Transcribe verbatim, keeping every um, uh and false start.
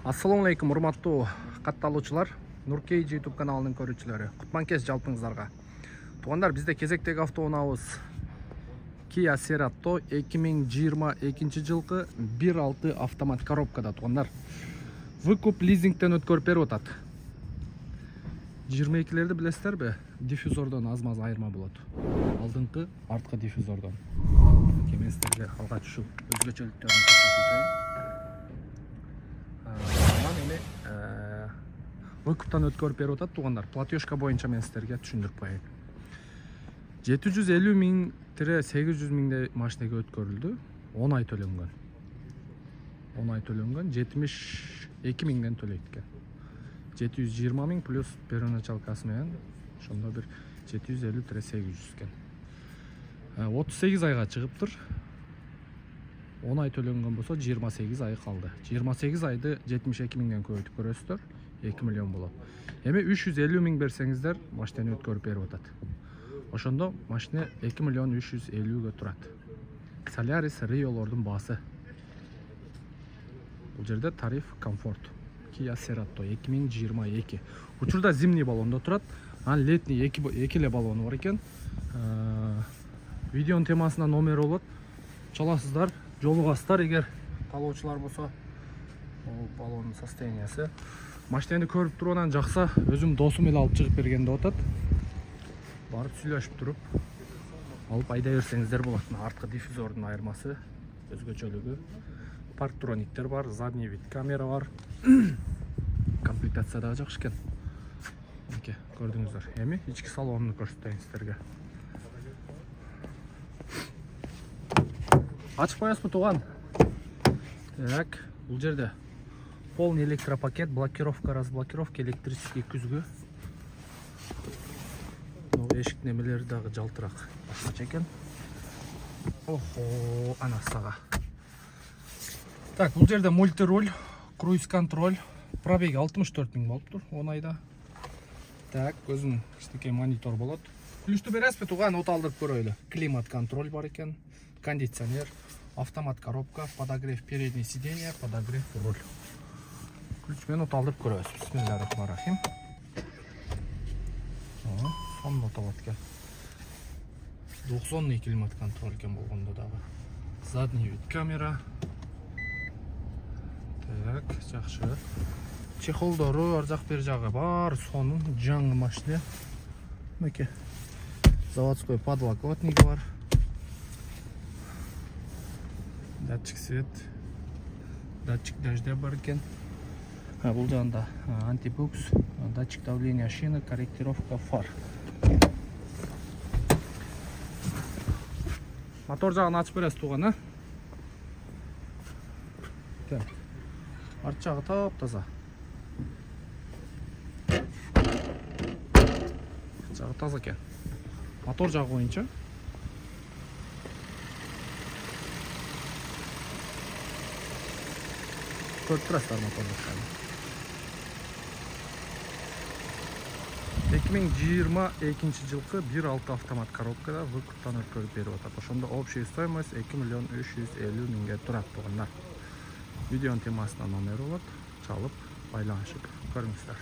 Assalamu alaikum, урматтуу катталуучулар, Нуркейж YouTube каналынын көрүүчүлөрү. Кутман-кеч жалпыңыздарга. Туугандар, бизде кезектеги автоунаабыз Kia Cerato эки миң жыйырма экинчи жылкы бир алты автомат коробкада. Туугандар, выкуп лизингден өткөрүп берип атат. жыйырма экилерди билесиздерби? Диффузордон аз-маз айырма болот. Алдыңкы, арткы диффузордон. Мен силерге алгач ушул өзгөчөлүктөрүн көрсөтөйүн. Выкуптан өткөрүп берип атат, туугандар. Платежка боюнча мен силерге түшүндүрүп коеюн. жети жүз элүү миң сегиз жүз миңдей машинеге өткөрүлдү. он ай төлөнгөн. он ай төлөнгөн, жетимиш эки миңден төлөйт экен. жети жүз жыйырма миң плюс первоначалкасы менен ошондо бир жети жүз элүү сегиз жүз экен. отуз сегиз айга чыгыптыр. он ай төлөнгөн болсо жыйырма сегиз ай калды. жыйырма сегиз айды жетимиш эки миңден көбөйтүп көрөсүздөр. эки миллион болот. Эми үч жүз элүү миң берсеңиздер, машинени өткөрүп берип атат. Ошондо машина эки миллион үч жүз элүүгө турат. Solaris Rio'лордун баасы. Бул жерде тариф комфорт. Kia Cerato эки миң жыйырма эки. Учурда зимний баллондо турат. Анан летний эки эле баллону бар экен. Видеонун темасына номер болот. Чаласыздар, жолугасыздар эгер талоочулар болсо. Бул баллонун состояниясы. Машинени көрүп туруп анан жакса, өзүм досум эле алып чыгып берген деп атат. Барып сүйлөшүп туруп алып айдай берсеңиздер болот. Арткы диффузордун айырмасы, өзгөчөлүгү. Парктрониктер бар, задний вид камера бар. Комплектация дагы жакшы экен. Мынке, көрдүңүздөр. Эми ички салонун көрсөтөйүн силерге. Ачып коесузбу, тууган? Так, бул жерде полный электропакет, блокировка, разблокировка, электрический күзгү. Эшик немелери дагы жалтырак башкача экен. Охо, ана сага. Так, бул жерде мультируль, круиз контроль, пробеги алтымыш төрт миң болуптур он айда. Так, өзүнүн кичинекей монитор болот. Плюсту бересизби, тууган? От алдырып көрөлү. Климат контроль бар экен, кондиционер, автомат коробка, подогрев переднее сиденье, подогрев руль. Ключ менен от алдырып көрөбүз. Бисмиллахиррахманиррахим. Сонун от алат экен. двухзонный климат контроль экен болгондо дагы. Задний вид камера. Так, жакшы. Чехолдору ар жак бер жагы бар, сонун, жаңы машина. Мынке. Заводской подлокотниги бар. Датчик свет. Датчик дождя бар экен. Бул жагында антибукс, датчик давления шины, корректировка фар. Мотор жагын ачып бересиз, тууган, а? Так. Арт жагы таап-таза. Жагы таза экен. Мотор жагы боюнча көрүп турасыздар моторду. эки миң жыйырма экинчи жылкы бир алты автомат коробкада выкуптан өткөрүп берип атат. Ошондо общая стоимость эки миллион үч жүз элүү миңге турат, туугандар. Видеонун темасына номер болот. Чалып, байланышып көрүңүздөр.